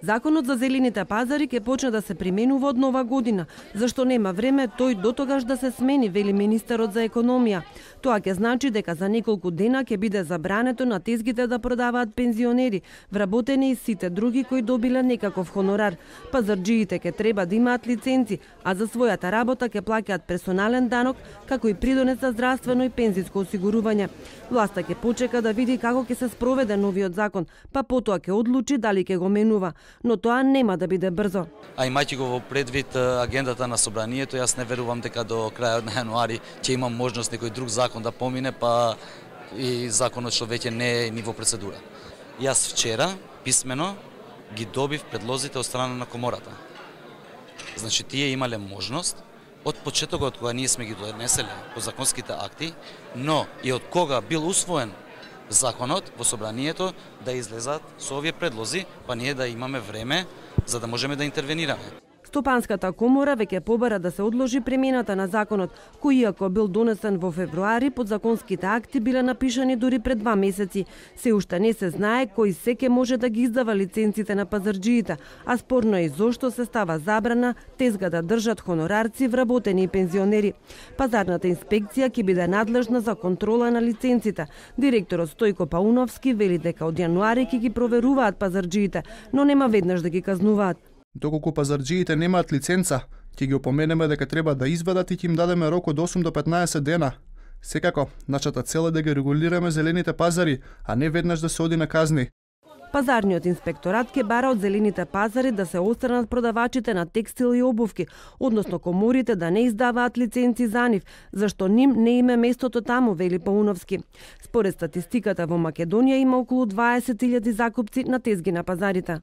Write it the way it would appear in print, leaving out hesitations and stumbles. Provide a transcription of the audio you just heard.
Законот за зелените пазари ќе почне да се применува од нова година, зашто нема време тој дотогаш да се смени, вели министерот за економија. Тоа ќе значи дека за неколку дена ќе биде забрането на тезгите да продаваат пензионери, вработени и сите други кои добиле некаков хонорар. Пазарџиите ќе треба да имаат лиценци, а за својата работа ќе плаќаат персонален данок, како и придонес за здравствено и пензиско осигурување. Власта ќе почека да види како ќе се спроведе новиот закон, па потоа ќе одлучи дали ќе го менува, но тоа нема да биде брзо. А имајќи го во предвид агендата на собранието, јас не верувам дека до крајот на јануари ќе има можност некој друг закон да помине, па и законот што веќе не е ниво процедура. Јас вчера писмено ги добив предлозите од страна на комората. Значи тие имале можност од почетокот кога ние сме ги донеселе по законските акти, но и од кога бил усвоен законот во собранието да излезат со овие предлози, па ние да имаме време за да можеме да интервенираме. Стопанската комора веќе побара да се одложи примената на законот, кој иако бил донесен во февруари, подзаконските акти биле напишани дури пред 2 месеци. Се уште не се знае кој се ќе може да ги издава лиценците на пазарџиите, а спорно е и зошто се става забрана тезга да држат хонорарци, вработени и пензионери. Пазарната инспекција ќе биде надлежна за контрола на лиценците. Директорот Стојко Пауновски вели дека од јануари ќе ги проверуваат пазарџиите, но нема веднаш да ги казнуваат. Доколку пазарџиите немаат лиценца, ќе ги опоменеме дека треба да извадат и ќе им дадеме рок од 8 до 15 дена. Секако, нашата цел е да ги регулираме зелените пазари, а не веднаш да се оди на казни. Пазарниот инспекторат ќе бара од зелените пазари да се отстранат продавачите на текстил и обувки, односно коморите да не издаваат лиценци за нив, зашто ним не им е местото таму, вели Пауновски. Според статистиката во Македонија има околу 20.000 закупци на тезги на пазарите.